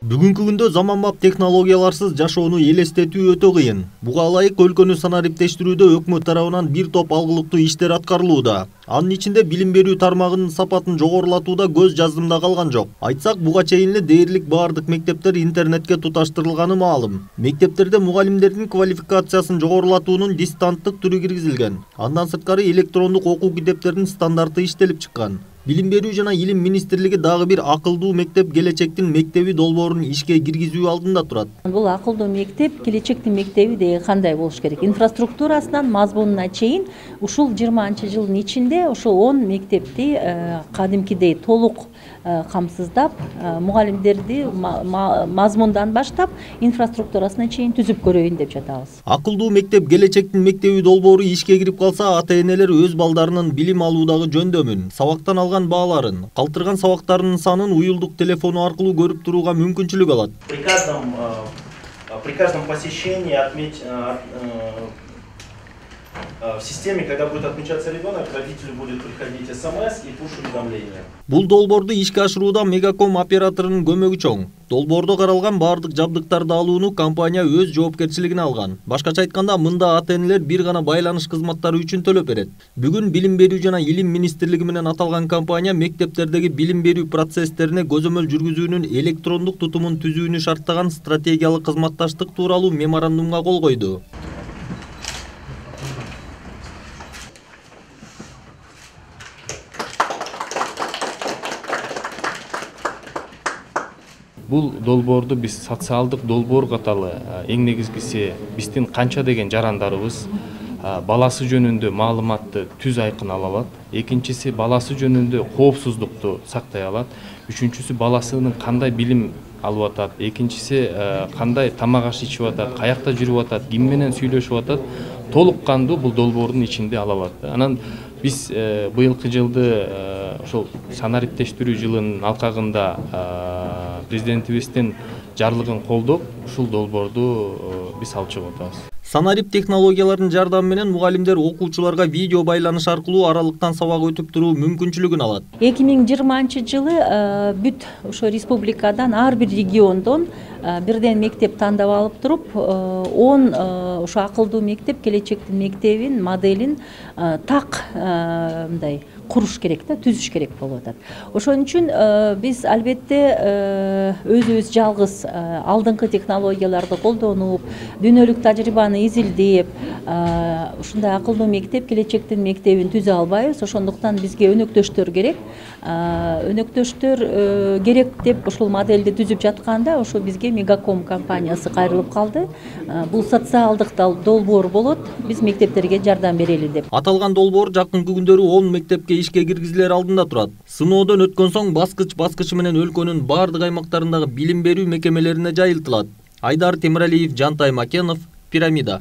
Бүгүнкү күндө заманбап технологияларсыз жашоону элестетүү өтө кыйын. Буга ылайык өлкөнү санариптештирүүдө өкмөт тарабынан бир топ алгылыктуу иштер аткарылууда. Анын ичинде билим берүү тармагынын сапатын жогорулатууда көз жаздымда калган жок. Айтсак, буга чейин эле дээрлик баардык мектептер интернетке туташтырылганы маалым. Мектептерде мугалимдердин квалификациясын жогорулатуунун дистанттык түрү киргизилген. Андан сырткары электрондук окуу китептеринин стандарты иштелип чыккан. Билим берүү жана илим министрлиги дагы бир акылдуу мектеп келечектин мектеби долбоорун ишке киргизүү алдында турат. Бул акылдуу мектеп келечектин мектеби деген кандай болуш керек? Инфраструктурасынан мазмунуна чейин ушул 20-жылдын ичинде ошо 10 мектепти кадимкидей толук камсыздап, мугалимдерди мазмундан баштап инфраструктурасына чейин түзүп көрөйүн деп жатабыз. Акылдуу мектеп келечектин мектеби долбоору ишке кирип калса, ата-энелер өз балдарынын билим алуудагы жөндөмүн, сабактан алган бааларын, калтырган сабактарынын санын уюлдук телефону аркылуу көрүп турууга мүмкүнчүлүк алат. При каждом посещении в системе, когда будет отмечаться ребенок, родителю будет приходить СМС и пуш-уведомления. Бул долбоорду ишке ашырууда Мегаком операторунун көмөгү чоң. Долбоордо каралган баардык жабдыктарды алууну компания өз жоопкерчилигине алган. Башкача айтканда, мында ата-энелер бир гана байланыш кызматтары үчүн төлөп берет. Бүгүн Билим берүү жана илим министрлиги менен аталган компания мектептердеги билим берүү процесстерине көзөмөл жүргүзүүнүн электрондук тутумун түзүүнү шарттаган стратегиялык кызматташтык тууралуу меморандумга кол койду. Бул долбоорду биз социалдык долбоор катары эң негизгиси биздин канча деген жарандарыбыз баласы жөнүндө маалыматты түз айкын ала алат. Экинчиси баласы жөнүндө коопсуздукту сактай алат. Үчүнчүсү баласынын кандай билим алып атат. Экинчиси кандай тамак аш ичип атат, каякта жүрүп атат, ким менен сүйлөшүп атат. Толук кандуу бул долбоордун ичинде ала алат. Анан биз быйылкы жылды ошол санариптештирүү жылынын алкагында президентибиздин жарлыгын колдоп, ушул долбоорду биз алып чыгып атабыз. Санарип технологияларынын жардамы менен мугалимдер окуучуларга видео байланыш аркылуу аралыктан сабак өтүп туруу мүмкүнчүлүгүн алат. 2020-жылы бүт ошо республикадан ар бир региондон бирден мектеп тандап алып туруп, 10 ошо акылдуу мектеп келечектин мектебин моделин так мындай куруш керек да, түзүш керек болуп атат. Ошон үчүн биз албетте өзүбүз жалгыз алдыңкы технологияларды колдонуп, дүйнөлүк тажрыйбаны изилдеп, ушундай акылдуу мектеп келечектин мектебин түзө албайбыз. Ошондуктан бизге өнөктөштөр керек. Өнөктөштөр керек деп ушул модельди түзүп жатканда, ошо бизге Мегаком компаниясы кайрылып калды. Бул социалдык долбоор болот, биз мектептерге жардам берели деп. Аталган долбоор жакынкы күндөрү 10 мектепке ишке киргизилер алдында турат. Сыноодон өткөн соң баскыч-баскычы менен өлкөнүн баардык аймактарындагы билим берүү мекемелерине жайылтылат. Айдар Темиралиев, Жантай Макенов, Пирамида.